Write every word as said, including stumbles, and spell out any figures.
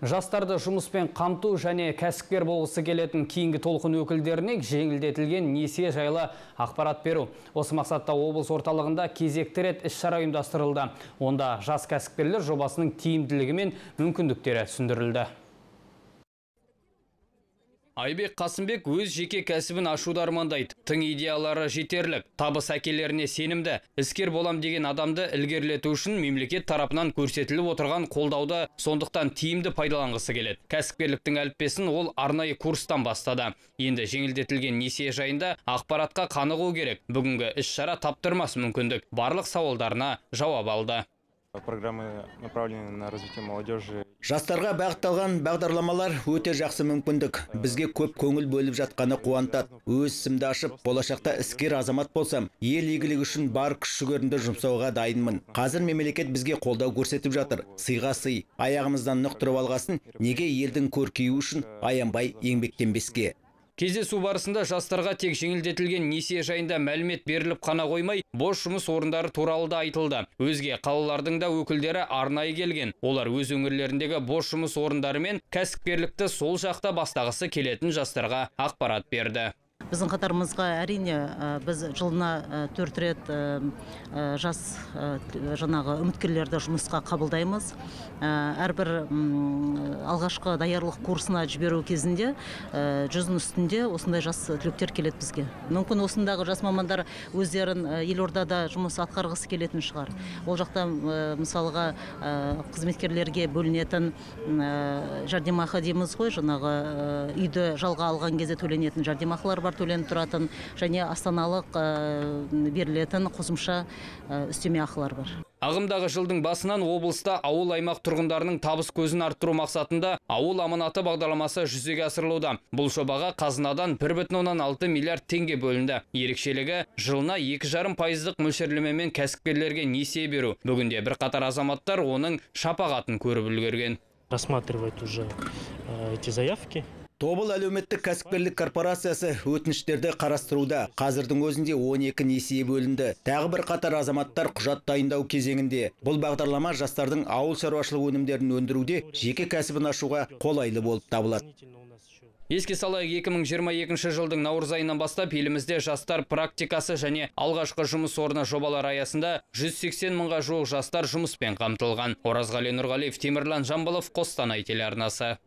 Жастарды жұмыспен қамту және кәсіпкер болғысы келетін кейінгі толқын өкілдеріне жеңілдетілген несие жайлы ақпарат беру. Осы мақсатта облыс орталығында кезекті рет іс-шара ұйымдастырылды. Онда жас кәсіпкерлер жобасының тиімділігі мен мүмкіндіктері түсіндірілді. Айбек Қасымбек өз жеке кәсібін ашуды армандайды. Тың идеялары жетерлік, табыс әкелеріне сенімді, іскер болам деген адамды ілгерілету үшін мемлекет тарапынан көрсетіліп отырған қолдауды сондықтан тиімді пайдаланғысы келеді. Кәсіпкерліктің әліппесін ол арнайы курстан бастады. Енді жеңілдетілген несие жайында ақпаратқа қанығу керек. Бүгінгі іс-шара таптырмас мүмкіндік. Барлық сауалдарына жауап алды. Программы направлены на развитие молодежи. Жастарға бағытталған бағдарламалар өте жақсы мүмкіндік. Бізге көп көңіл бөліп жатқаны қуантады. Өз ісімді ашып, болашақта іскер азамат болсам, ел игілігі үшін бар күш-жүгерімді жұмсауға дайынмын. Қазір мемлекет бізге қолдау көрсетіп жатыр. Сыйға сый, аяғымыздан нық тұрып алғасын, неге елдің көркеюі үшін аянбай еңбектенбеске. Кездесу барысында жастарға тек жеңілдетілген несие жайында мәлімет беріліп қана қоймай, бос жұмыс орындары туралы да айтылды. Өзге қалалардың да өкілдері арнайы келген. Олар өз өңірлеріндегі бос жұмыс орындары мен кәсіпкерлікті сол жақта бастағысы келетін жастарға ақпарат берді. Біздің қатарымызға әрине біз жылына төрт рет жас жаңағы үміткерлерді жұмысқа қабылдаймыз. Әрбір алғашқы даярлық курсына жіберу кезінде жүздің үстінде осындай жас түлектер келеді бізге. Мүмкін осындағы жас мамандар өздерін елордада жұмыс атқарғысы келетін шығар. Ол жақта мысалға қызметкерлерге бөлінетін жәрдемақы дейміз ғой, жаңағы үйді жалға алған кезде төленетін жәрдемақылар бар, төленіп тұратын, және астаналық берілетін қосымша үстеме ақылар бар. Ағымдағы жылдың басынан облыста ауыл аймақ тұрғындарының табыс көзін арттыру мақсатында ауыл аманаты бағдарламасы жүзеге асырылуда. Бұл жобаға қазынадан бір бүтін оннан алты миллиард теңге бөлінді. Ерекшелігі жылына екі жарым пайыздық мөлшерлемемен кәсіпкерлерге несие беру. Бүгінде бірқатар азаматтар оның шапағатын көріп үлгерген. Рассматривать уже эти заявки. Тобыл әлеуметтік кәсіпкерлік корпорациясы өтініштерді қарастыруда. Қазірдің өзінде он екі несие бөлінді. Тағы бір қатар азаматтар құжат дайындау кезеңінде. Бұл бағдарлама жастардың ауыл шаруашылық өнімдерін өндіруде жеке кәсібін ашуға қолайлы болып табылады. Еске салайық, екі мың жиырма екінші жылдың наурыз айынан бастап елімізде жастар практикасы және алғашқы жұмыс орны жобалар аясында жүз сексен мыңға жуық жастар жұмыспен қамтылған. Оразғали Нұрғалиев, Темірлан Жамбылов, Қостанай телеарнасы.